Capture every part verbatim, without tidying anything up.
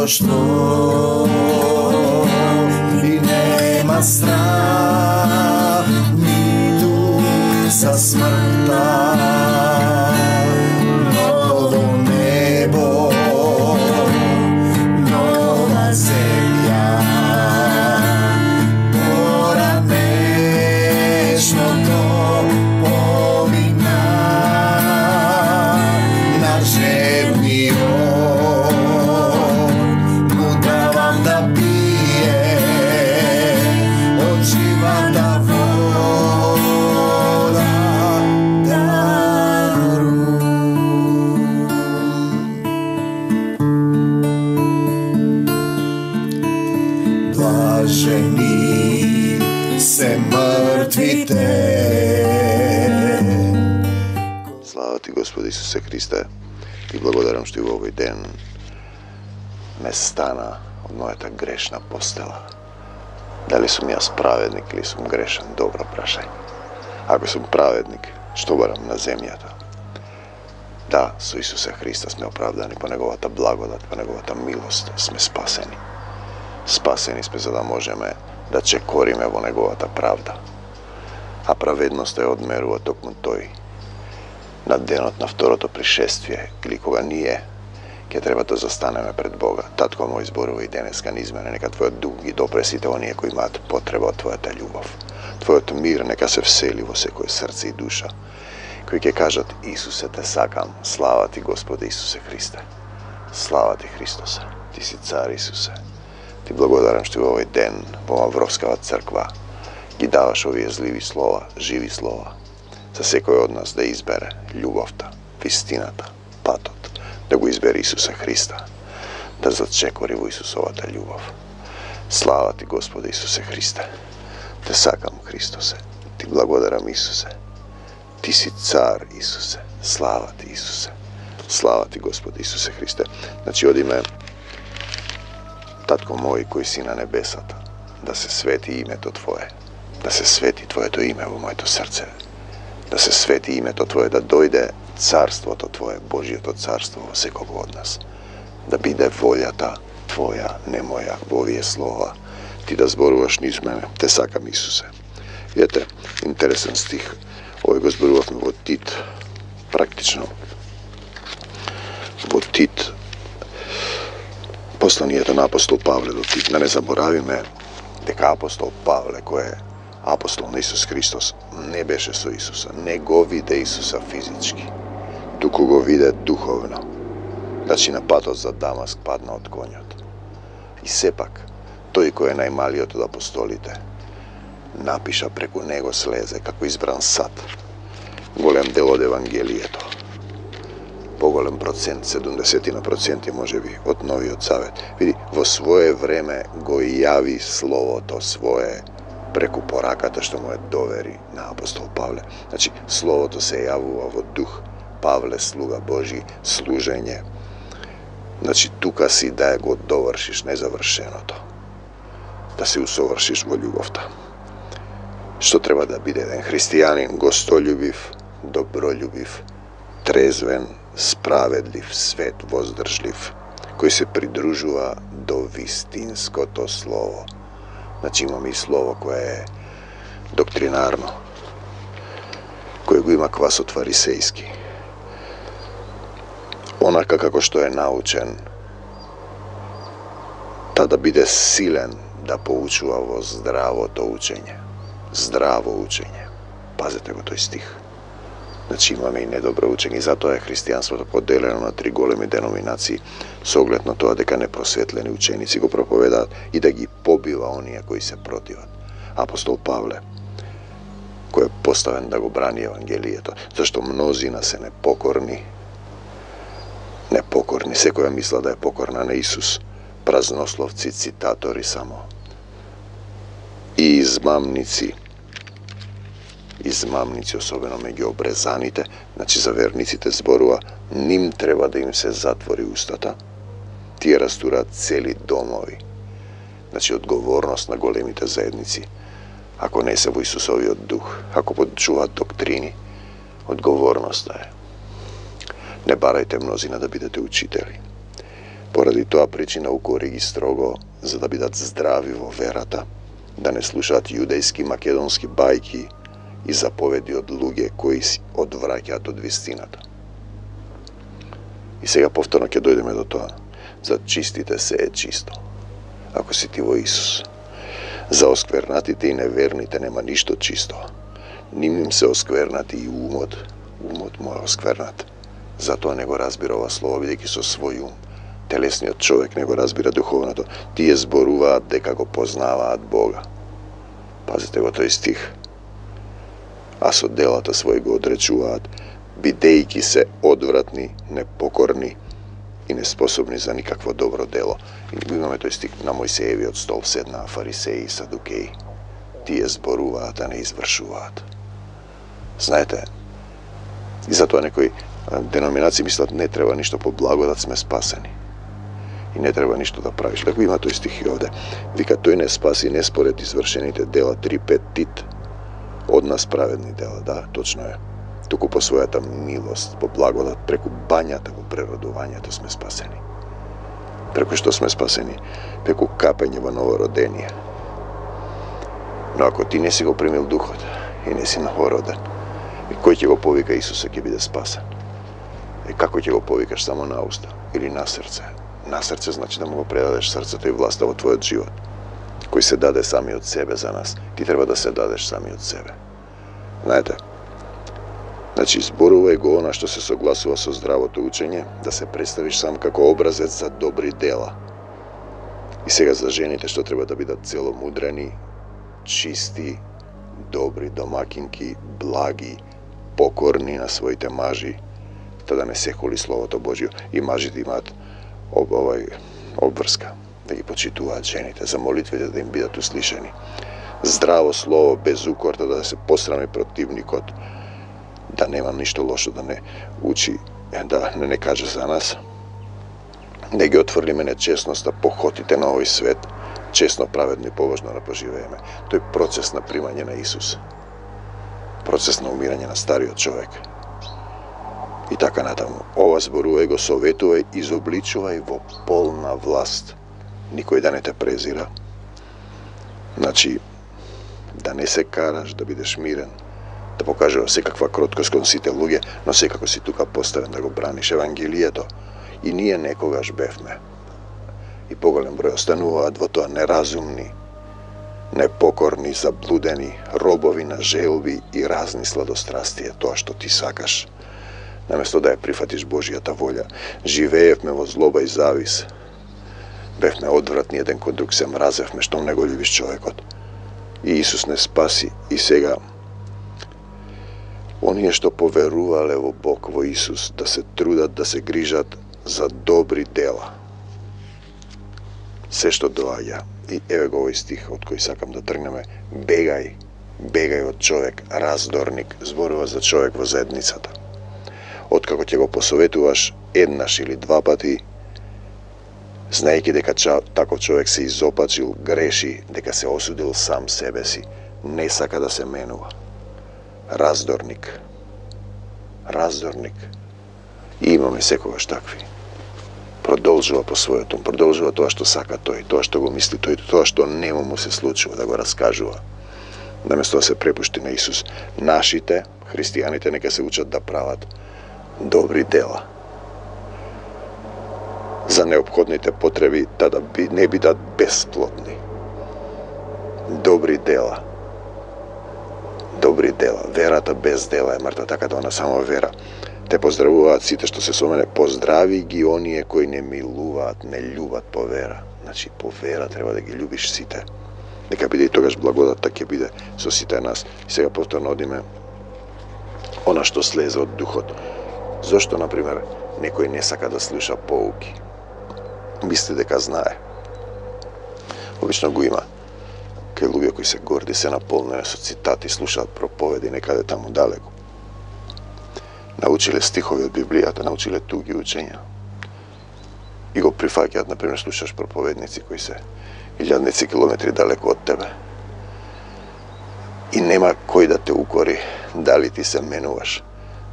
што и нема страх ниту за смртта. Ново небо, нова земја, поранешното помина на жевниот. Му давам да пие од живата вода дарувам. Блажени се мртвите. Слава ти, Господи Исусе Христе, ти благодарам што и во овој ден ме стана од мојата грешна постела. Дали сум јас праведник или сум грешен? Добро прашање. Ако сум праведник, што барам на земјата? Да, со Исуса Христа сме оправдани по неговата благодат, по неговата милост сме спасени. Спасени сме за да можеме да чекориме во неговата правда. А праведноста ја одмерува токму тој на денот на второто пришествие, или кога ние ќе треба да застанеме пред Бога. Татко мој, зборува и денеска низ мене, нека Твојот дух ги допре сите оние кои имаат потреба од Твојата љубов. Твојот мир нека се всели во секој срце и душа, кои ќе кажат: Исусе, те сакам. Слава ти, Господи Исусе Христе. Слава ти, Христосе. Ти си цар, Исусе. Ти благодарам што во овој ден во Мавровскава црква ги даваш овие зливи слова, живи слова, за секој од нас да избере љубовта, вистината, патот, да го избере Исуса Христа, да зачекори во Исусовата љубов. Слава ти, Господи Исусе Христе. Те сакам, Христосе. Ти благодарам, Исусе. Ти си цар, Исусе. Слава ти, Исусе. Слава ти, Господи Исусе Христе. Значи, одиме, Татко мој кој си на небесата, да се свети името Твое, да се свети Твоето име во моето срце, да се свети името Твое, да дојде царството Твое, Божиото царство во секого од нас, да биде волјата Твоја, не моја, во овие слова. Ти да зборуваш низ мене. Те сакам, Исусе. Видете, интересен стих. Овој го зборувавме во Тит, практично. Во Тит, посланието на апостол Павле до Тит. Да не заборавиме дека апостол Павле, кој е апостол на Исус Христос, не беше со Исуса, не го виде Исуса физички, туку го виде духовно. Значи на патот за Дамаск падна од конјот. И сепак, тој кој е најмалиот од апостолите, напиша преку него слезе како избран сад, голем дел од Евангелието. Поголем процент, седумдесет проценти може би, од Новиот Завет. Види, во свое време го јави Словото свое преку пораката што му е довери на апостол Павле. Значи, Словото се јавува во дух. Павле, слуга Божи, служење. Значи, тука си да го довршиш незавршеното. Да се усовршиш во љубовта. Што треба да биде еден христијанин? Гостолюбив, добролюбив, трезвен, справедлив, свет, воздржлив, кој се придружува до вистинското слово. Значи имаме и слово кое е доктринарно, кој го има квасот фарисејски. Онака како што е научен, та да биде силен да поучува во здравото учење. Здраво учење. Пазете го тој стих. Значи имаме и недобро учење, и затоа е христијанството поделено на три големи деноминации со оглед на тоа дека непросветлени ученици го проповедаат и да ги побива оние кои се противат. Апостол Павле, кој е поставен да го брани Евангелието, зашто мнозина се непокорни, непокорни, секоја мисла да е покорна на Исус, празнословци, цитатори само, и измамници, измамници, особено меѓу обрезаните, значи за верниците зборува, ним треба да им се затвори устата, тие растураат цели домови. Значи одговорност на големите заедници, ако не се во Исусовиот дух, ако подчуваат доктрини, одговорноста е. Не барајте мнозина да бидете учители. Поради тоа причина укори ги строго, за да бидат здрави во верата, да не слушаат јудејски македонски бајки и заповеди од луѓе кои си одвраќаат од вистината. И сега повторно ќе дојдеме до тоа. За чистите се е чисто, ако си ти во Исус. За осквернатите и неверните нема ништо чисто. Ним им се осквернати и умот, умот му е осквернат. Затоа не го разбира ова слово, бидејќи со свој ум телесниот човек не го разбира духовното. Тие зборуваат дека го познаваат Бога. Пазите го тој стих. А со делата своји го одречуваат, бидејќи се одвратни, непокорни и неспособни за никакво добро дело. И имаме тој стих на Мојсеевиот стол седнаа фарисеи и садукеи. Тие зборуваат, а не извршуваат. Знаете, и затоа некои деноминации мислат не треба ништо по благодат сме спасени. И не треба ништо да правиш. Како има тој стих и овде. Вика, тој не спаси не според извршените дела три пет Тит. Од нас праведни дела, да, точно е. Туку по својата милост, по благодат, преку бањата во преродувањето сме спасени. Преку што сме спасени? Преку капење во новородение. Но ако ти не си го примил духот и не си новороден, и кој ќе го повика Исуса ќе биде спасен? И како ќе го повикаш, само на уста или на срце? На срце значи да му го предадеш срцето и власта во твојот живот, кој се даде сами од себе за нас. Ти треба да се дадеш сами од себе. Знаете, значи зборувај го она што се согласува со здравото учење, да се представиш сам како образец за добри дела. И сега за жените што треба да бидат целомудрени, чисти, добри домакинки, благи, покорни на своите мажи, та да не се хули Словото Божјо. И мажите имаат об, овај обврска, да ги почитуваат жените, за молитвите да им бидат услишани. Здраво слово, без укорта, да се посрами противникот, да нема ништо лошо, да не учи, да не не каже за нас, да ги отврлиме нечестноста, похотите на овој свет, честно, праведно и побожно да поживееме. Тој процес на примање на Исус, процес на умирање на стариот човек. И така натаму. Ова зборувај го, советувај, изобличувај во полна власт. Никој да не те презира. Значи, да не се караш, да бидеш мирен, да покажува секаква кроткост кон сите луѓе, но секако си тука поставен да го браниш Евангелието. И ние некогаш бевме. И поголем број остануваат во тоа неразумни, непокорни, заблудени, робови на желби и разни сладострастија, тоа што ти сакаш. Наместо да ја прифатиш Божјата волја, живеевме во злоба и завис. Бевме одвратни еден кон друг, се мразевме, што не го љубиш човекот. И Исус не спаси. И сега, оние што поверувале во Бог, во Исус, да се трудат, да се грижат за добри дела. Се што доаѓа, и еве го овој стих од кој сакам да тргнеме, бегај, бегај од човек, раздорник, зборува за човек во заедницата. Откако ќе го посоветуваш еднаш или два пати, знаејќи дека таков човек се изопачил, греши, дека се осудил сам себе си, не сака да се менува. Раздорник. Раздорник. И имаме секогаш такви. Продолжува по својот ум, продолжува тоа што сака тој, тоа што го мисли тој, тоа што нему му се случува да го раскажува. Наместо да се препушти на Исус, нашите, христијаните, нека се учат да прават добри дела. За неопходните потреби да, да би, не бидат бесплодни. Добри дела. Добри дела. Верата без дела е мртва, така да она само вера. Те поздравуваат сите што се со мене, поздрави ги оние кои не милуваат, не љубат по вера. Значи, по вера треба да ги љубиш сите. Нека биде и тогаш благодатта ќе биде со сите нас. И сега повторно одиме она што слезе од духот. Зошто, например, некој не сака да слуша поуки? Мисли дека знае. Обично го има. Кај луѓе кои се горди, се наполнени со цитати, слушаат проповеди некаде таму далеко. Научиле стихови од Библијата, научиле туги учења. И го прифаќаат, например, слушаш проповедници кои се илјадници километри далеко од тебе. И нема кој да те укори дали ти се менуваш,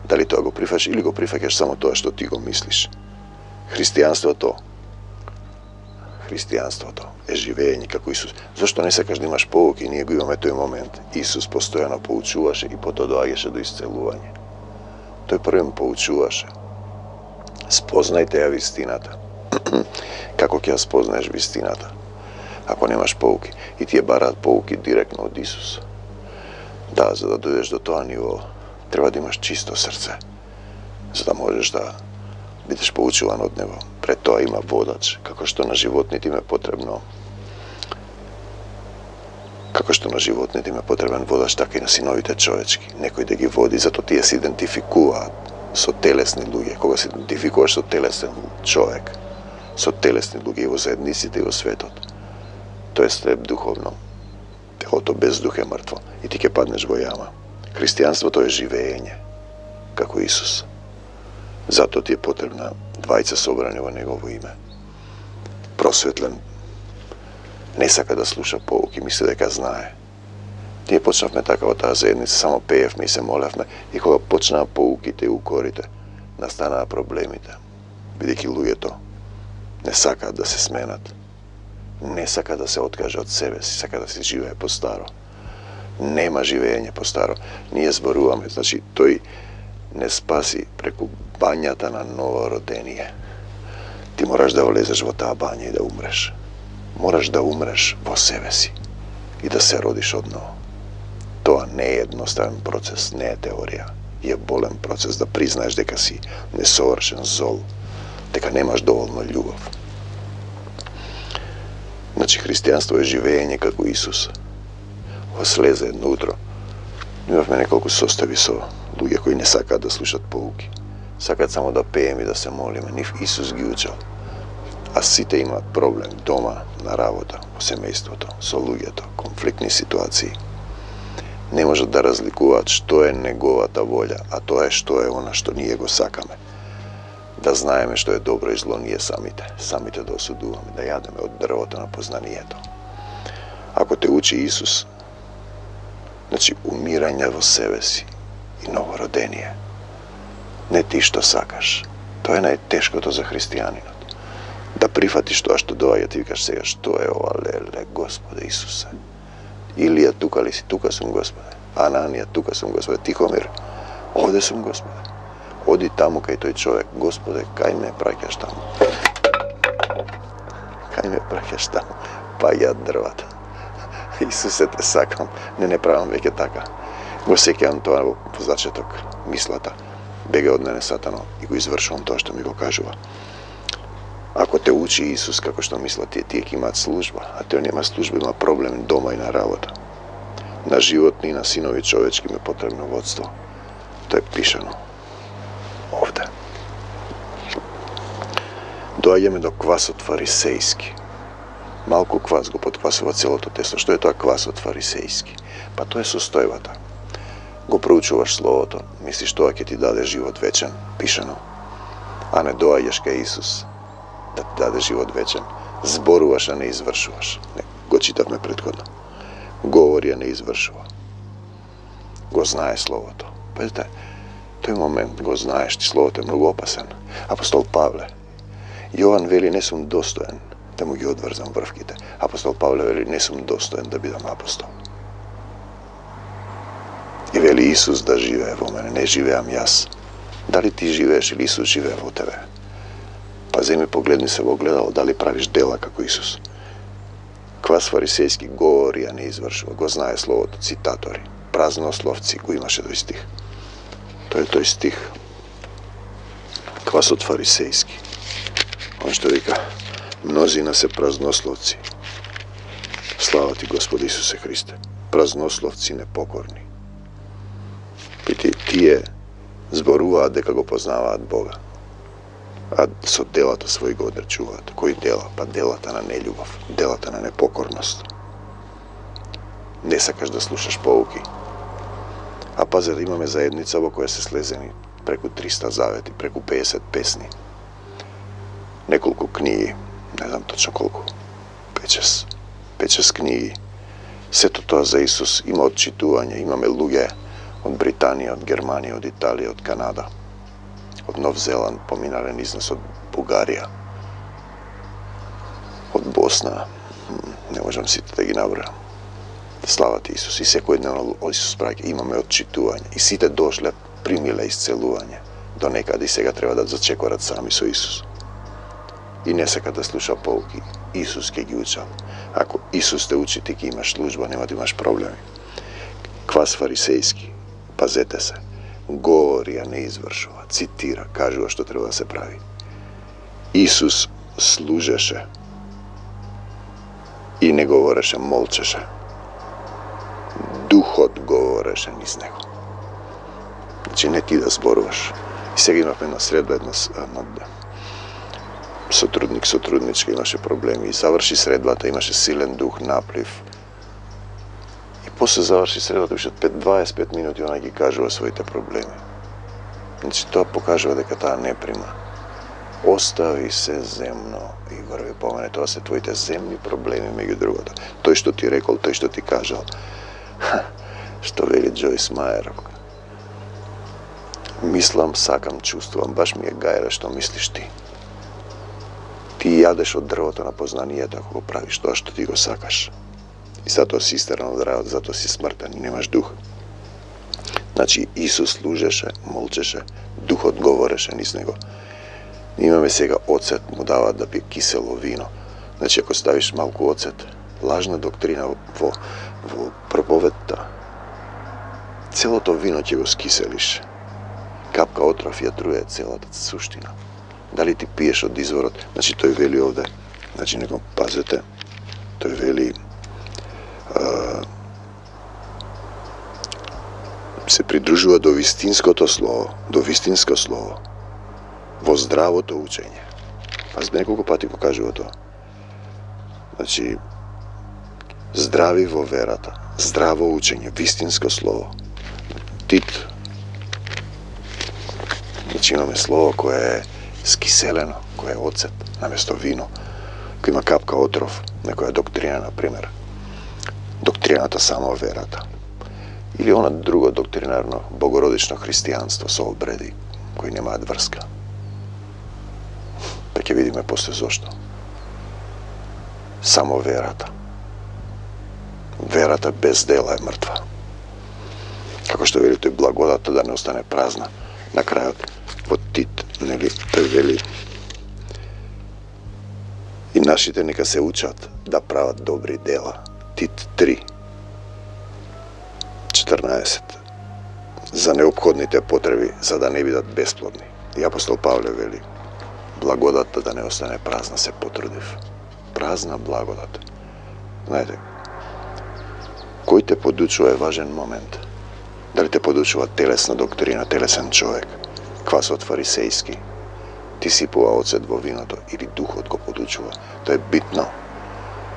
дали тоа го прифаќаш или го прифаќаш само тоа што ти го мислиш. Христијанството христијанството е живење како Исус. Зошто не сакаш да имаш поуки? Ние го имаме тој момент. Исус постојано поучуваше и потоа доаѓаше до исцелување. Тој првен поучуваше. Спознајте ја вистината. Како ќе ја спознаеш вистината? Ако немаш поуки. И тие бараат поуки директно од Исус. Да, за да дојдеш до тоа ниво, треба да имаш чисто срце. За да можеш да бидеш поучуван од него. Пред тоа има водач, како што на животните им е потребно како што на животните им е потребен водач, така и на синовите човечки. Некој да ги води, зато тие се идентификуваат со телесни луѓе. Кога се идентификуваш со телесен човек, со телесни луѓе и во заедниците и во светот, тоа е слеп духовно. Телото без дух е мртво и ти ќе паднеш во јама. Христијанството е живење, како Исус. Зато ти е потребна двајца собрани во Негово име. Просветлен, не сака да слуша поуки, мисли дека знае. Ние почнавме така во таа заедница, само пеевме и се молевме, и кога почнаа поуките и укорите, настанаа проблемите. Бидејќи луѓето не сакаат да се сменат, не сака да се откаже од себе си, сака да се живее по старо. Нема живење по старо. Ние зборуваме, значи тој не спаси преку бањата на ново родение. Ти мораш да влезеш во таа бања и да умреш. Мораш да умреш во себе си и да се родиш одново. Тоа не е едноставен процес, не е теорија. И е болен процес да признаеш дека си несовршен, зол, дека немаш доволно љубов. Значи, христијанство е живење како Исус. Во слезе едно утро имавме неколку состави со луѓе кои не сакаат да слушат поуки. Сакаат само да пеем и да се молиме. Нив Исус ги учел. А сите имаат проблем дома, на работа, во семејството, со луѓето, конфликтни ситуации. Не можат да разликуваат што е неговата волја, а тоа е што е она што ние го сакаме. Да знаеме што е добро и зло ние самите, самите да осудуваме, да јадеме од дрвото на познанието. Ако те учи Исус, значи умирање во себе си и новородение. Не ти што сакаш. Тоа е најтешкото за христијанинот. Да прифатиш тоа што доаѓа, ти викаш сега што е ова, леле, Господе Исусе. Илија, тука ли си? Тука сум, Господе. Ананија, тука сум, Господе. Тихомир, овде сум, Господе. Оди таму кај тој човек, Господе, кај ме праќаш таму? Кај ме праќаш таму? Па ја дрвата. Исусе, те сакам. Не, не правам веќе така. Го сеќавам тоа во зачеток, мислата. Бега од мене Сатано и го извршувам тоа што ми го кажува. Ако те учи Исус како што мислат тие, тие ќе имаат служба, а тој нема служба, има проблем дома и на работа. На животни и на синови човечки ме потребно водство. Тоа е пишано овде. Доаѓаме до квасот фарисејски. Малку квас го подквасува целото тесто. Што е тоа квасот фарисејски? Па тоа е состојбата. Го проучуваш Словото, мислиш тоа ќе ти даде живот вечен, пишано. А не доаѓаш кај Исус да ти даде живот вечен. Зборуваш, а не извршуваш. Не, го читавме предходно. Говори, а не извршува. Го знае Словото. Пазите, тој момент го знаеш, ти Словото е многу опасен. Апостол Павле, Јован вели, не сум достоен да му ги одврзам врвките. Апостол Павле вели, не сум достоен да бидам апостол. И вели Исус да живее во мене, не живеам јас. Дали ти живееш или Исус живее во тебе? Па земи погледни се во огледало, дали правиш дела како Исус. Квас фарисејски говори, а не извршува. Го знае Словото, цитатори, празнословци, го имаше тој стих. Тој е тој стих. Квасот фарисејски. Он што вика, мнозина се празнословци. Слава ти, Господи Исусе Христе. Празнословци непокорни. Пити, тие зборуваат дека го познаваат Бога, а со делата своји го одречуваат. Кои дела? Па делата на нељубов, делата на непокорност. Не сакаш да слушаш поуки. А пазе да имаме заедница во која се слезени преку триста завети, преку пеесет песни, неколку книги, не знам точно колку, пет-шест, пет-шест книги. Сето тоа за Исус, има отчитување, имаме луѓе од Британија, од Германија, од Италија, од Канада, од Нов Зеланд, поминале низ нас од Бугарија, од Босна, не можам сите да ги набројам. Слава ти Исус, и секојдневно Исус праќа, имаме отчитување, и сите дошле, примиле исцелување, до некаде и сега треба да зачекорат сами со Исус. И не сека да слуша поуки, Исус ќе ги учал. Ако Исус те учи, ти ќе имаш служба, нема да имаш проблеми. Квас фарисејски, пазете се, говори, а не извршува, цитира, кажува што треба да се прави. Исус служеше и не говореше, молчеше. Духот говореше низ него. Значи не ти да зборуваш. И сега имавме една средба, една, една сотрудник, сотрудничка, имаше проблеми и заврши средбата, имаше силен дух, наплив. И после заврши средбата, више дваесет и пет минути она ги кажува своите проблеми. Значи тоа покажува дека таа не прима. Остави се земно, Игор ви помене, тоа се твоите земни проблеми, меѓу другото. Тој што ти рекол, тој што ти кажал. Што вели Джойс Мајер. Мислам, сакам, чувствувам, баш ми е гајле што мислиш ти. Ти јадеш од дрвото на познанието ако го правиш тоа што ти го сакаш. И затоа си истеран од рајот, затоа си смртен и немаш дух. Значи Исус служеше, молчеше, духот говореше низ него. Имаме сега оцет, му даваат да пие кисело вино. Значи ако ставиш малку оцет, лажна доктрина во, во проповедта, целото вино ќе го скиселиш. Капка отров ја труе целата суштина. Дали ти пиеш од изворот, значи тој вели овде, значи него пазете, тој вели а, се придружува до вистинското слово, до вистинско слово, во здравото учење. Пазите, неколку пати го кажува тоа. Значи, здрави во верата, здраво учење, вистинско слово. Тит. Значи имаме слово кое е скиселено, кое е оцет, наместо вино, кој има капка отров, некоја доктрина, например. Доктрината само верата. Или она друго доктринарно, богородично христијанство со обреди, кои немаат врска. Па ќе видиме после зошто. Само верата. Верата без дела е мртва. Како што вели тој, благодата да не остане празна. На крајот, во Тит, нели, тој вели, и нашите нека се учат да прават добри дела. Тит три, четрнаесет. За неопходните потреби, за да не бидат бесплодни. И апостол Павле вели, благодата да не остане празна, се потрудив. Празна благодат. Знаете, кој те подучува е важен момент. Дали те подучува телесна доктрина, телесен човек, квасот фарисејски, ти сипува оцет во виното, или духот го подучува. Тоа е битно.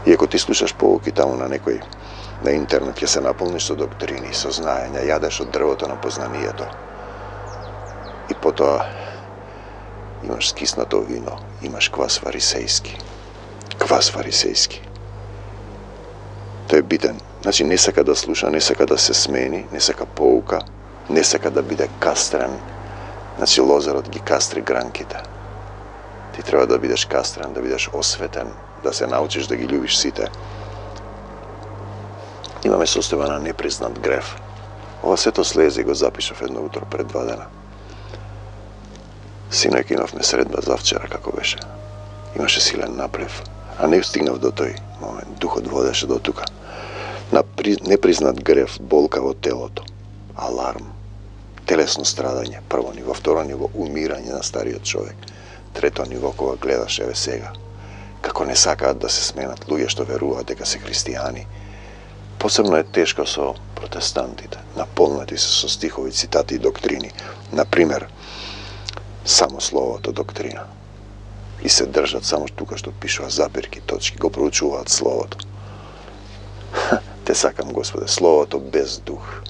И ако ти слушаш поуки таму на некој, на интернет, ќе се наполниш со доктрини, со знаења, јадеш од дрвото на познанието. И потоа имаш скиснато вино, имаш квас фарисејски. Квас фарисејски. Тој е битен. Значи не сака да слуша, не сака да се смени, не сака поука, не сака да биде кастрен. Значи лозарот ги кастри гранките. Ти треба да бидеш кастрен, да бидеш осветен, да се научиш да ги љубиш сите. Имаме состојба на непризнат грев. Ова сето слезе и го запишав едно утро пред два дена. Синојка имавме средба завчера, како беше. Имаше силен наплив, а не стигнав до тој момент. Духот водеше до тука. На непризнат грев, болка во телото, аларм, телесно страдање, прво ниво, второ ниво, умирање на стариот човек, трето ниво, кога гледаш еве сега, како не сакаат да се сменат луѓе што веруваат дека се христијани. Посебно е тешко со протестантите, наполнати се со стихови, цитати и доктрини. Например, само словото доктрина. И се држат само тука што пишува запирки, точки, го проучуваат словото. Те сакам, Господе, словото без дух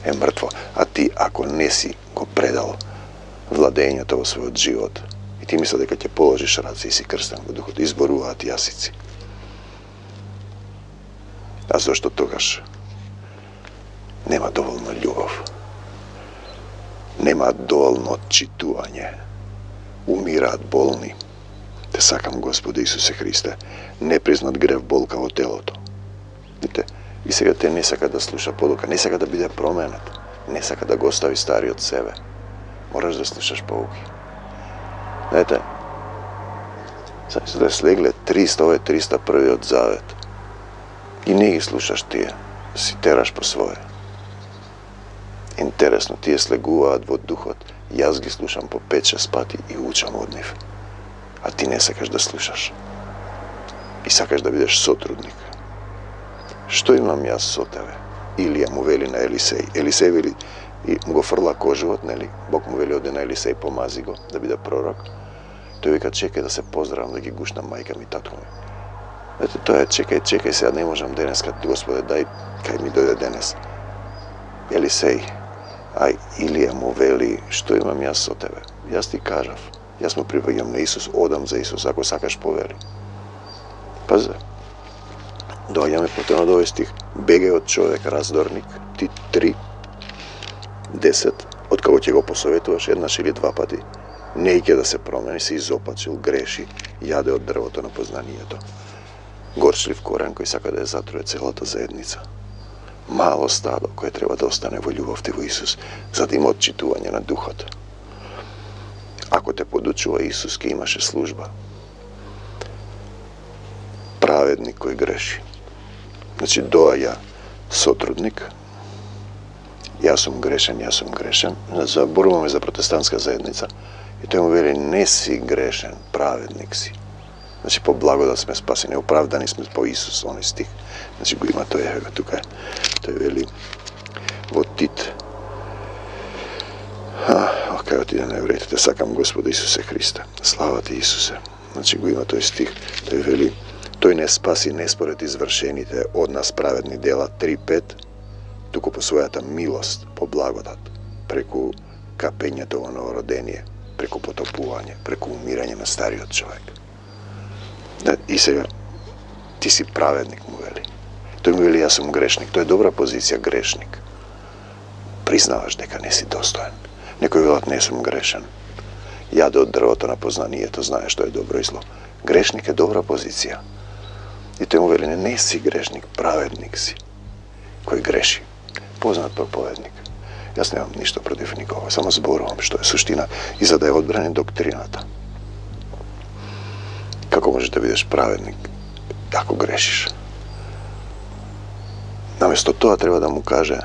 е мртво, а ти ако не си го предал владењето во својот живот и ти мисля дека ќе положиш раце и си крстен во духот, изборуваат јасици. А зашто тогаш нема доволно љубов, нема доволно отчитување, умираат болни. Те сакам, Господи Исусе Христе, непризнат грев болка во телото. Видите, и сега те не сака да слуша подока, не сака да биде променет, не сака да го остави стари од себе. Мораш да слушаш поуки. Знаете, сега се да слегле триста, ова е триста првиот завет. И не ги слушаш тие, си тераш по свое. Интересно, тие слегуваат во духот, јас ги слушам по пет-шест пати и учам од нив. А ти не сакаш да слушаш. И сакаш да бидеш сотрудник. Што имам јас со тебе? Илија му вели на Елисеј. Елисеј вели и му го фрла кожувот, нели? Бог му вели оди на Елисеј, помази го да биде пророк. Тој вика, чекај да се поздравам, да ги гушнам мајка ми, татко ми. Ете, тоа е, чекај, чекај, сега не можам денес, кад Господе, дај, кај ми дојде денес. Елисеј, ај, Илија му вели, што имам јас со тебе? Јас ти кажав, јас му припаѓам на Исус, одам за Исус, ако сакаш повели. Пази, доаѓаме потено до овој стих, бегај од човек раздорник, ти три, десет, од каго ќе го посоветуваш еднаш или два пати, не ќе да се промени, се изопачил, греши, јаде од дрвото на познанието. Горчлив корен кој сака да ја затруе целата заедница. Мало стадо кое треба да остане во љубовта во Исус, за да има отчитување на духот. Ако те подучува Исус, ке имаше служба. Праведник кој греши. Значи, доаѓа сотрудник, јас сум грешен, јас сум грешен, заборуваме за протестантска заедница, и тој му вели, не си грешен, праведник си. Значи, по благодат сме спасени, оправдани сме по Исус, оној стих. Значи, го има тој, ево тука. Тој вели во Тит. А, кај отиде на евреите, те сакам Господа Исусе Христа. Слава ти, Исусе. Значи, го има тој стих. Тој вели, тој не спаси не според извршените од нас праведни дела три пет, туку по својата милост, по благодат, преку капењето во новородение, преку потопување, преку умирање на стариот човек. И сега, ти си праведник, му вели. Тој му вели, јас сум грешник. Тоа е добра позиција, грешник. Признаваш дека не си достоен. Некој велат, не сум грешен. Јаде од дрвото на познанието, знаеш што е добро и зло. Грешник е добра позиција. И тој му вели, не, не си грешник, праведник си, кој греши. Познат проповедник. Јас немам ништо против никога, само зборувам што е суштина и за да ја одбрани доктрината. Како можеш да бидеш праведник ако грешиш? Наместо тоа треба да му каже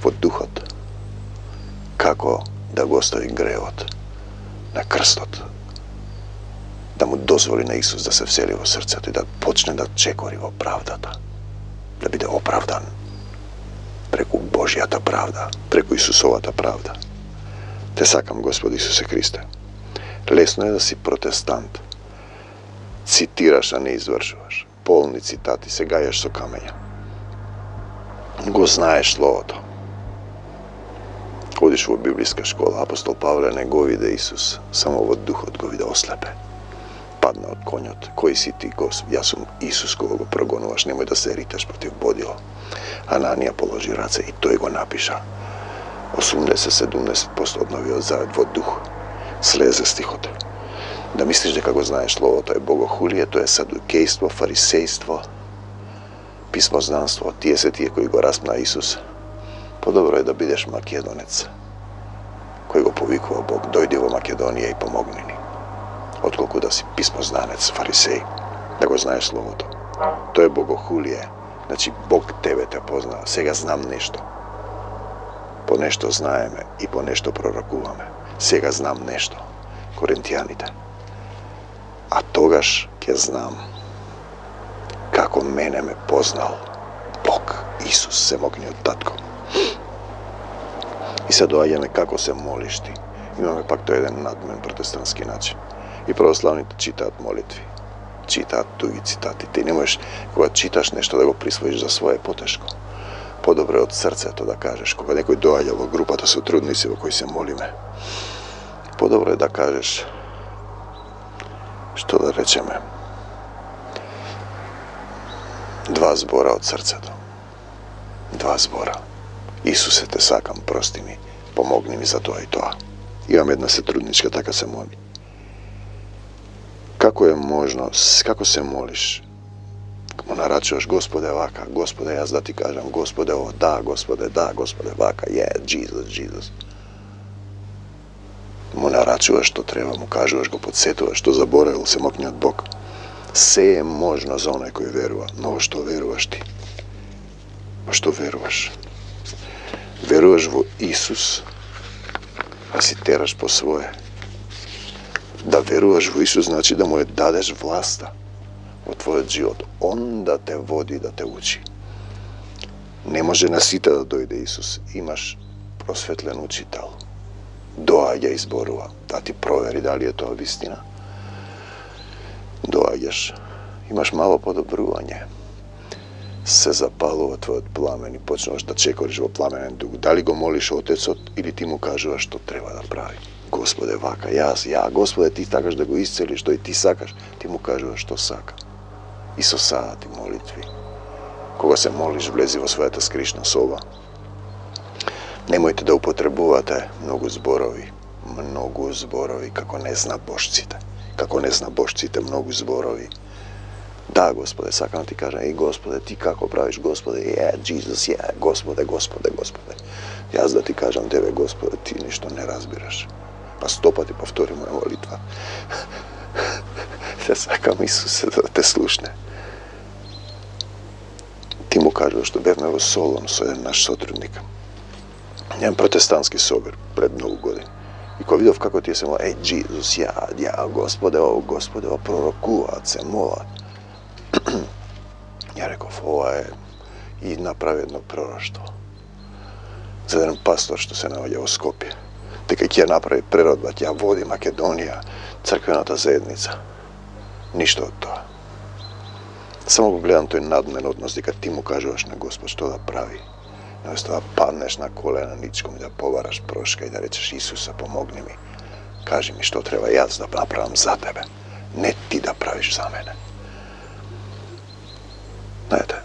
во духот како да го остави гревот на крстот, да му дозволи на Исус да се всели во срцето и да почне да чекори во правдата, да биде оправдан преку Божјата правда, преку Исусовата правда. Те сакам, Господи Исусе Христе. Лесно е да си протестант. Цитираш, а не извршуваш. Полни цитати, се гајаш со камења. Го знаеш словото. Одиш во библиска школа, апостол Павле не го виде Исус, само во духот го виде ослепе. Падна од конјот. Кој си ти, Господ? Јас сум Исус кога го прогонуваш, немој да се риташ против бодило. Ананија положи раце и тој го напиша. осумдесет до седумдесет проценти од новиот завет во дух. Слезе стихот. Да мислиш дека го знаеш словото е богохулие, тоа е садукејство, фарисејство, писмознанство, тие се тие кои го распна Исус. Подобро е да бидеш македонец, кој го повикува Бог, дојди во Македонија и помогни ни, отколку да си писмознанец, фарисеј, да го знаеш словото. Тоа е богохулие. Значи, Бог тебе те познава. Сега знам нешто. По нешто знаеме и по нешто пророкуваме. Сега знам нешто. Коринтијаните. А тогаш ќе знам како мене ме познал Бог, Исус, семогниот татко. И се доаѓаме како се молиш ти. Имаме пак тој еден надмен протестантски начин. И православните читаат молитви. Читаат туги цитати. Ти не можеш, кога читаш нешто, да го присвоиш за свое потешко. Подобре од срцето да кажеш, кога некој доаѓа во групата со трудници во кои се молиме. Подобро е да кажеш, што да речеме, два збора од срцето. Два збора. Исусе, те сакам, прости ми, помогни ми за тоа и тоа. Имам една сетрудничка, така се моли. Како е можно, како се молиш? Му нарачуваш, Господе, вака, Господе, јас да ти кажам, Господе, о, да, Господе, да, Господе, вака, е, Джизус, Джизус. Му нарачуваш што треба, му кажуваш, го подсетуваш, што заборавил се мокниот Бог. Се е можно за оној кој верува, но во што веруваш ти? Во што веруваш? Веруваш во Исус, а си тераш по свое. Да веруваш во Исус значи да му ја дадеш власта во твојот живот. Он да те води, да те учи. Не може на сите да дојде Исус. Имаш просветлен учител. Доаѓа и зборува. Да ти провери дали е тоа вистина. Доаѓаш. Имаш мало подобрување. Се запалува твојот пламен и почнуваш да чекориш во пламенен дух. Дали го молиш Отецот или ти му кажуваш што треба да прави. Господе, вака, јас, ја, Господе, ти сакаш да го исцелиш, тој ти сакаш, ти му кажуваш што сака. И со саати молитви. Кога се молиш, влези во својата скришна соба. Немојте да употребувате многу зборови, многу зборови, како не зна бошците. Како не зна бошците, многу зборови. Да, Господе, сакам да ти кажам, и Господе, ти како правиш, Господе, е, Джизус, е, Господе, Господе, Господе. Јас да ти кажам тебе, Господе, ти ништо не разбираш. Па сто пати повтори моја молитва. Те сакам Исусе да те слушне. Ти му кажуваш што бевме во Солон со еден наш сотрудник. Еден протестантски собир пред многу години. И кога видов како тие се молат, еј, Джизус, ја, ја, Господе, о, Господе, о, пророкуваат се, молат. Ја реков, ова е и направи едно пророштво. За еден пастор што се наоѓа во Скопје. Дека ќе направи преродба, ќе води Македонија, црквената заедница. Ништо од тоа. Само го гледам тој надмен однос, дека ти му кажуваш на Господ што да прави. Наместо да паднеш на колена ничком и да побараш прошка и да речеш, Исуса, помогни ми. Кажи ми што треба јас да направам за тебе. Не ти да правиш за мене. Знаете,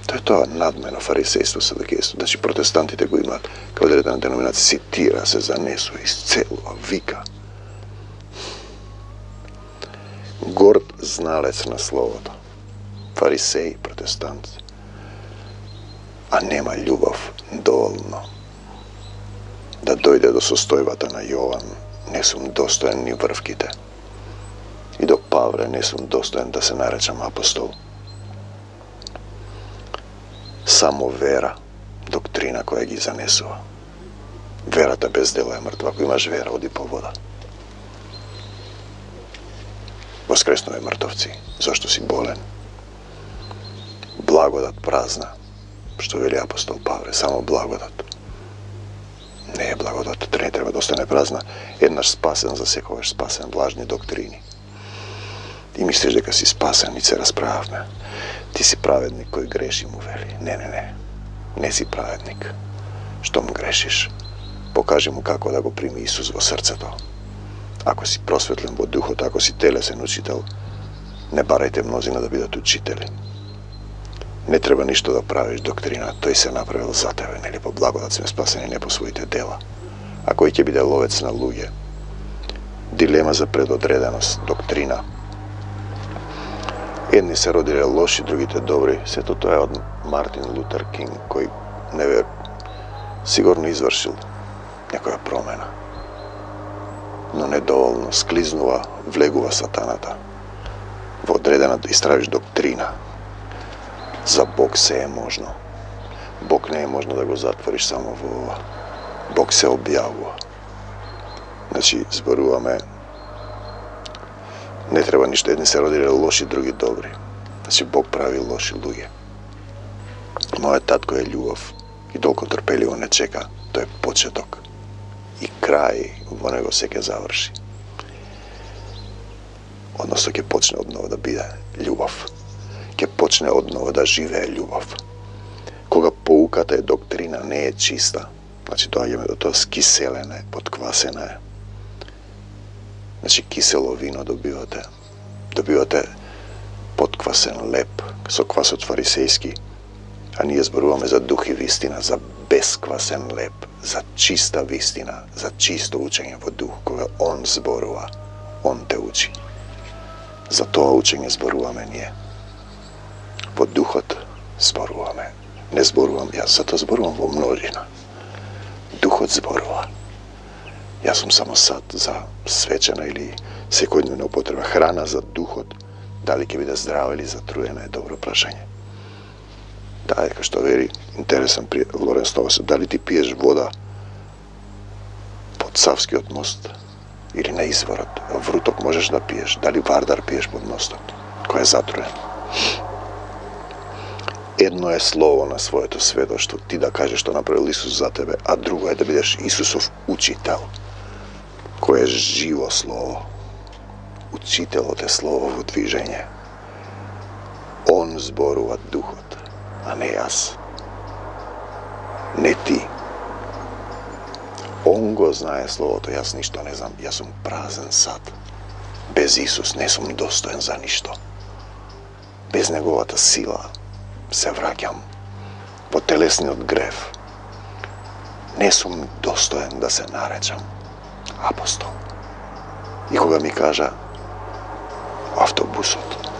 тоа е тоа надмено фарисејство, садокејство. Значи протестантите го имаат, као одредена деноминација, цитира се, занесува, исцелува, вика. Горд зналец на словото. Фарисеи, протестанти. А нема љубов доволно да дојде до состојбата на Јован. Не сум достоен ни врвките. И до Павле не сум достоен да се наречам апостол. Само вера, доктрина која ги занесува. Верата без дела е мртва. Ако имаш вера, оди по вода. Воскреснувај мртовци, зашто си болен. Благодат празна, што вели апостол Павле, само благодат. Не е благодат, не треба да остане празна. Еднаш спасен, за секогаш спасен, влажни доктрини. И мислиш дека си спасен, и се расправавме. Ти си праведник кој греши, му вели. Не, не, не. Не си праведник. Штом грешиш, покажи му како да го прими Исус во срцето. Ако си просветлен во духот, ако си телесен учител, не барајте мнозина да бидат учители. Не треба ништо да правиш доктрина, тој се направил за тебе, нели по благодат сме спасени, не по своите дела. А кој ќе биде ловец на луѓе? Дилема за предодреденост, доктрина. Едни се родиле лоши, другите добри. Сето тоа е од Мартин Лутер Кинг, кој неве сигурно извршил некоја промена. Но недоволно склизнува, влегува сатаната. Во одредена да истражиш доктрина. За Бог се е можно. Бог не е можно да го затвориш само во ова. Бог се објавува. Значи, зборуваме, не треба ништо, едни се родиле лоши, други добри. Значи, Бог прави лоши луѓе. Мојот татко е љубов и толку трпеливо не чека. Тој е почеток. И крај во него се ќе заврши. Односно ќе почне одново да биде љубов. Ќе почне одново да живее љубов. Кога поуката е доктрина, не е чиста, значи доаѓаме до тоа скиселена е, подквасена е. Значи кисело вино добивате, добивате подквасен леп со квасот фарисејски, а ние зборуваме за дух и вистина, за бесквасен леп, за чиста вистина, за чисто учење во дух, кога он зборува, он те учи. За тоа учење зборуваме ние. Во духот зборуваме. Не зборувам јас, затоа зборувам во множина. Духот зборува. Јас сум само сад за свечена или секојдневна употреба. Храна за духот, дали ќе биде здрава или затруена, е добро прашање. Да, дека што вери интересен при Лоренс Новосел, дали ти пиеш вода под Савскиот мост или на изворот. Вруток можеш да пиеш, дали Вардар пиеш под мостот, кој е затруен. Едно е слово на своето сведоштво, ти да кажеш што направил Исус за тебе, а друго е да бидеш Исусов учител, кој е живо слово. Учителот е слово во движење. Он зборува духот, а не јас. Не ти. Он го знае словото, јас ништо не знам, јас сум празен сад. Без Исус не сум достоен за ништо. Без неговата сила се враќам во телесниот грев. Не сум достоен да се наречам апостол. И кога ми кажа автобусот,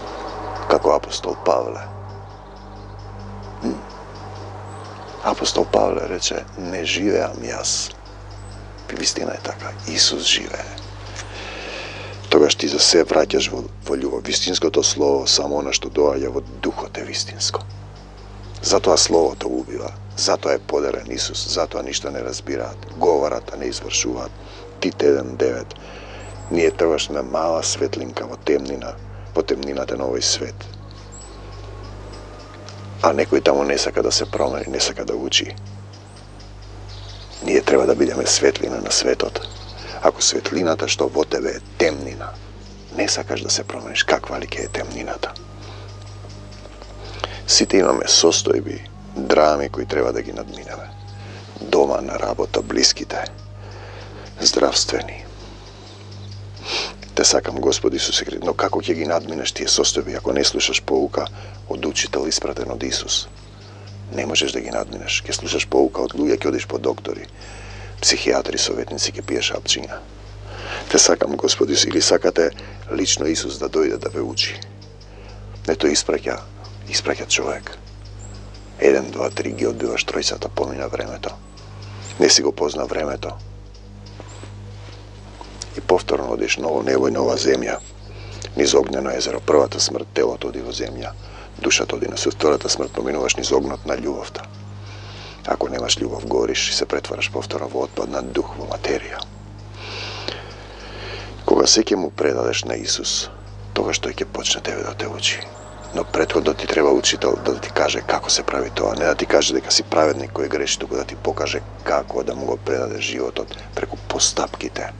како апостол Павле, апостол Павле рече, не живеам јас. Вистина е така, Исус живее. Тогаш ти за се враќаш во, во љубов. Вистинското слово, само она што доаѓа во духот е вистинско. Затоа словото убива, затоа е поделен Исус, затоа ништо не разбираат, говорат, а не извршуваат. Тит еден девет. Ние тогаш сме мала светлинка во темнина, во темнината на овој свет. А некој таму не сака да се промени, не сака да учи. Ние треба да бидеме светлина на светот. Ако светлината што во тебе е темнина, не сакаш да се промениш, каква ли ќе е темнината? Сите имаме состојби, драми кои треба да ги надминеме. Дома, на работа, блиските, здравствени. Те сакам, Господи Исусе Христе, но како ќе ги надминеш тие состојби ако не слушаш поука од учител испратен од Исус? Не можеш да ги надминеш. Ќе слушаш поука од луѓе, ќе одиш по доктори, психијатри, советници, ќе пиеш апчиња. Те сакам, Господи, или сакате лично Исус да дојде да ве учи. Не тој испраќа, испраќа човек. Еден, два, три ги одбиваш тројцата, помина времето. Не си го позна времето. И повторно одиш ново небо и нова земја. Низ огнено езеро, првата смрт, телото оди во земја. Душата оди на суд, втората смрт, поминуваш низ огнот на љубовта. Ако немаш љубов, гориш и се претвараш повторно во отпадна дух, во материја. Кога се ќе му предадеш на Исус, тогаш тој ќе почне тебе да те учи. Но претходно ти треба учител да ти каже како се прави тоа, не да ти каже дека си праведник кој греши, туку да ти покаже како да му го предадеш животот преку постапките.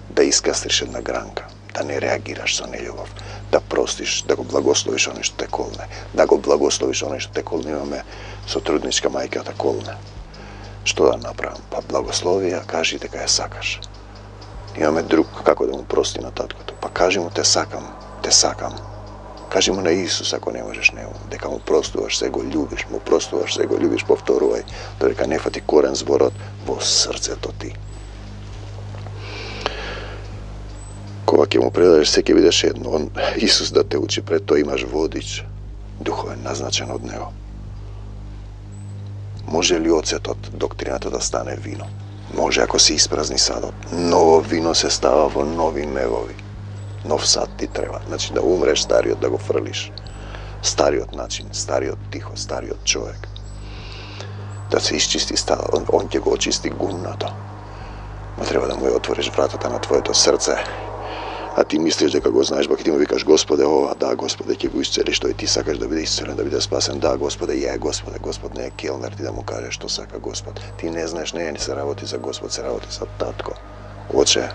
Да искастриш една гранка, да не реагираш со нељубов, да простиш, да го благословиш оној што те колне, да го благословиш оној што те колне. Имаме сотрудничка мајката колне. Што да направам? Па благослови ја, кажи дека ја сакаш. Имаме друг, како да му прости на таткото? Па кажи му те сакам, те сакам. Кажи му на Исус ако не можеш него, дека му простуваш, се го љубиш, му простуваш, се го љубиш, повторувај, додека не фати корен зборот во срцето ти. Кога ќе му предадеш, се ќе бидеш едно. Он, Исус да те учи, пред тоа имаш водич, духовен, назначен од него. Може ли оцетот, доктрината да стане вино? Може ако се испразни садот. Ново вино се става во нови мевови. Нов сад ти треба. Значи да умреш стариот, да го фрлиш. Стариот начин, стариот тихо, стариот човек. Да се исчисти стадот. Он, он ќе го очисти гумното. Но треба да му ја отвориш вратата на твоето срце. А ти мислиш дека го знаеш, баки ти му викаш Господе, ова, да, Господе, ќе го исцелиш, тој ти сакаш да биде исцелен, да биде спасен, да, Господе, ја, Господе, Господ не е келнер, ти да му кажеш што сака Господ. Ти не знаеш, не, не се работи за Господ, се работи за татко. Оче,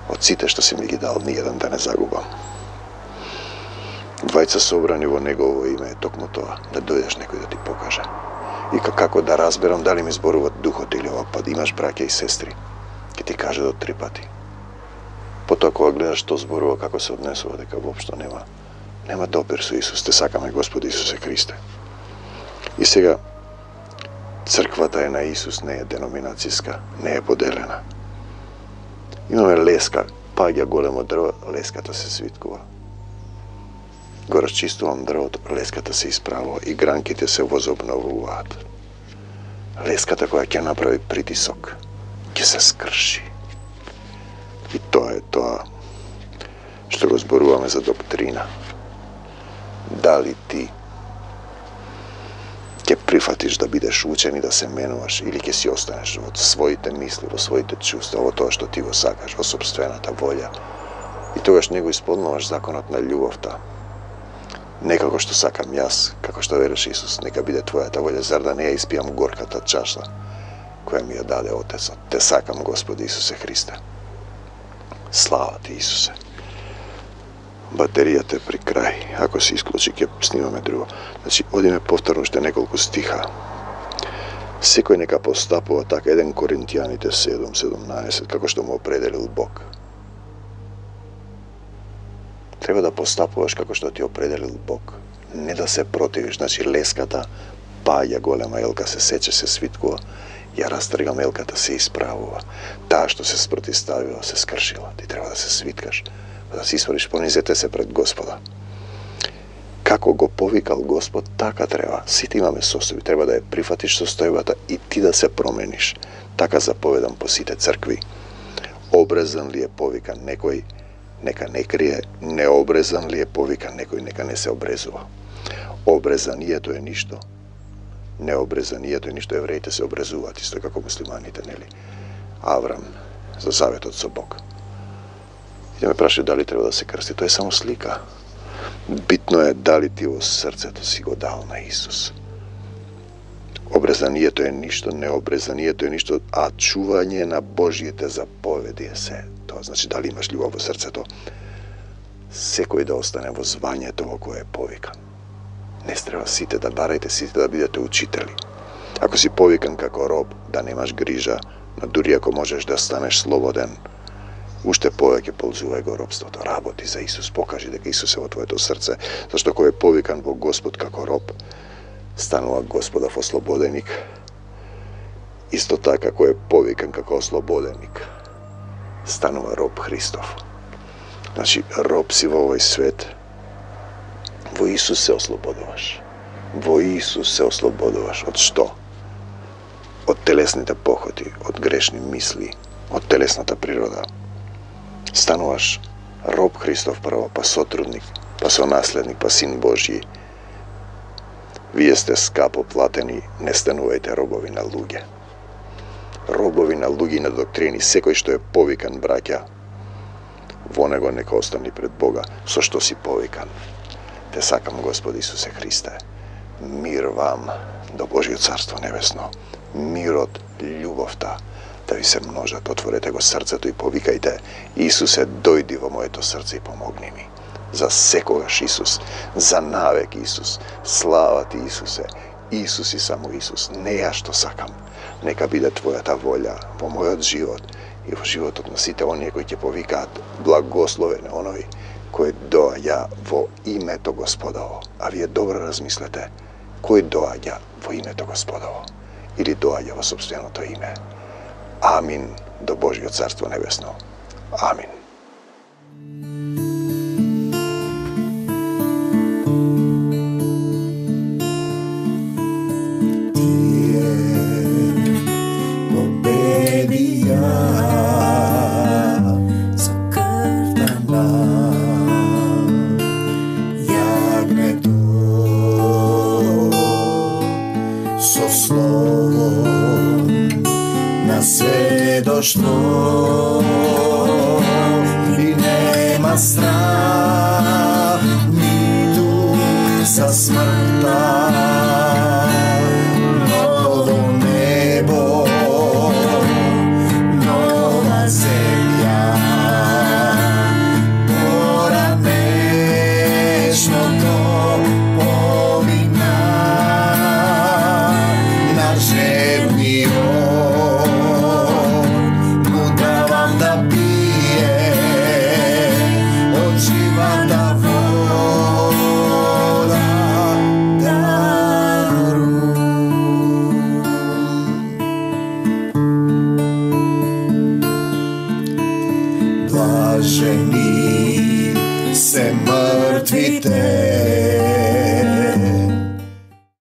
од сите што си ми ги дал, ни еден да не загубам. Двајца собрани во Негово име е токму тоа, да дојдеш некој да ти покаже. И како да разберам дали ми зборува духот или ова, па да имаш браќа и сестри, ќе ти каже до три пати. Потоа кога гледаш што зборува, како се однесува, дека воопшто нема нема допир со Исус. Те сакаме, Господи Исусе Христе. И сега црквата е на Исус, не е деноминацијска, не е поделена. Имаме леска паѓа големо дрво, леската се свиткува. Го расчистувам дрвото, леската се исправува и гранките се возобновуваат. Леската која ќе направи притисок, ќе се скрши. И тоа е тоа што го зборуваме за доктрина. Дали ти ќе прифатиш да бидеш учен и да се менуваш, или ќе си останеш во своите мисли, во своите чувства, во тоа што ти го сакаш, во собствената волја. И тогаш не го исполнуваш законот на љубовта. Не како што сакам јас, како што вереше Исус, нека биде твојата волја, зар да не ја испијам горката чаша која ми ја даде Отецот. Те сакам, Господи Исусе Христе. Слава ти, Исусе. Батеријата е при крај. Ако се исклучи, ќе снимаме друго. Значи, одиме повторно уште неколку стиха. Секој нека постапува така, еден Коринтијаните седум седумнаесет, како што му определил Бог. Треба да постапуваш како што ти определил Бог. Не да се противиш. Значи, леската паѓа голема елка, се сече, се свиткува. Ја растргам елката, се исправува. Таа што се спротивставила, се скршила. Ти треба да се свиткаш, да се исправиш, понизете се пред Господа. Како го повикал Господ, така треба. Сите имаме состојби, треба да ја прифатиш состојбата и ти да се промениш. Така заповедам по сите цркви. Обрезан ли е повикан некој, нека не крие, необрезан ли е повикан некој, нека не се обрезува. Обрезанието е ништо. Необрезанието е ништо. Евреите се обрезуваат, исто како муслиманите, нели? Аврам за заветот со Бог. И да ме праша дали треба да се крсти. Тоа е само слика. Битно е дали ти во срцето си го дал на Исус. Обрезанието е ништо, необрезанието е ништо, а чување на Божјите заповеди е се. Тоа значи дали имаш љубов во срцето. Секој да остане во звањето во кое е повикан. Не треба сите да барајте, сите да бидете учители. Ако си повикан како роб, да немаш грижа, но дури ако можеш да станеш слободен, уште повеќе ползувај го робството. Работи за Исус, покажи дека Исус е во твоето срце, зашто кој е повикан во Господ како роб, станува Господов ослободеник. Исто така кој е повикан како ослободеник, станува роб Христов. Значи, роб си во овој свет, во Исус се ослободуваш. Во Исус се ослободуваш. Од што? Од телесните похоти, од грешни мисли, од телесната природа. Стануваш роб Христов прво, па сотрудник, па сонаследник, па син Божји. Вие сте скапо платени, не станувајте робови на луѓе. Робови на луѓе и на доктрини, секој што е повикан, браќа, во него нека остани пред Бога, со што си повикан. Те сакам, Господи Исусе Христе. Мир вам до Божјо Царство Небесно. Мирот, љубовта да ви се множат. Отворете го срцето и повикајте: Исусе, дојди во моето срце и помогни ми. За секогаш Исус, за навек Исус. Слава ти, Исусе. Исус и само Исус. Не ја што сакам. Нека биде твојата волја во мојот живот и во животот на сите оние кои ќе повикаат: благословен е оној кој доаѓа во името Господово. А вие добро размислете, кој доаѓа во името Господово или доаѓа во собственото име. Амин до Божјо Царство Небесно. Амин. Што и нема страх ниту за смртта. Ново небо, нова земја, поранешното помина на жевниот. Да блажени се мртвите